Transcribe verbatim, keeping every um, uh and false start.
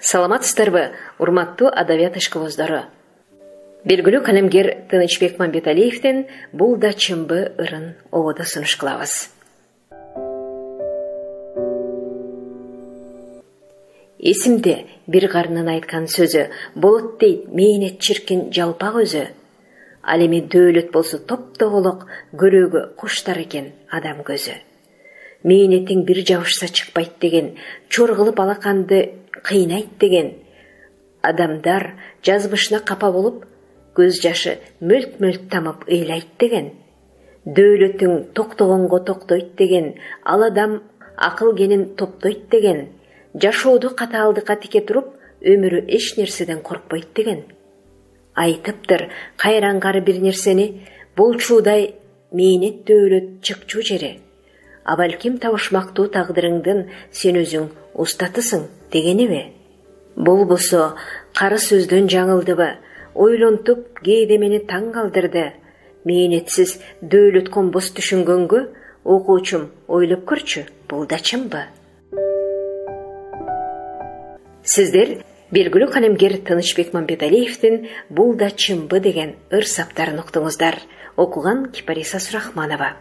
Саламатсыздарбы, урматтуу адабият ишкыбыздары. Белгилүү калемгер Тынычбек Мамбеталиевдин «Бул да чынбы» ырын ободо сунуш кылабыз. Эсимде бир карынын айткан сөзү, болот дейт мээнет чиркин жалпак өзү. Ал эми дөөлөт болсо топтоголок, көрөөгө куштар экен адам көзү. Мээнетиң бир жабышса чыкпайт деген, чор кылып алаканды кыйнайт деген. Адамдар жазмышына капа болуп, көз жашы мөлт-мөлт тамып ыйлайт деген. Дөөлөтүң токтогонго токтойт деген, ал адам акыл кенин топтойт деген. Жашоодо катаалдыкка тике туруп, өмүрү эч нерседен коркпойт деген. Айтыптыр кайрангары бир нерсени, болчуудай мээнет дөөлөт чыкчуу жери. А балким табышмактуу тагдырыңдын сен өзүң устатысың дегенеби? Болбосо кары сөздөн жаңылдыбы, ойлонтуп кээде мени таң калтырды. Мээнетсиз дөөлөт комбос түшүнгөнгө, окуучум ойлоп көрчү, бул да чынбы? Сиздер белгилүү калемгер Тынычбек Мамбеталиевдин «Бул да чынбы» деген ыр саптарын уктуңуздар. Окуган Кипариса Сурахманова.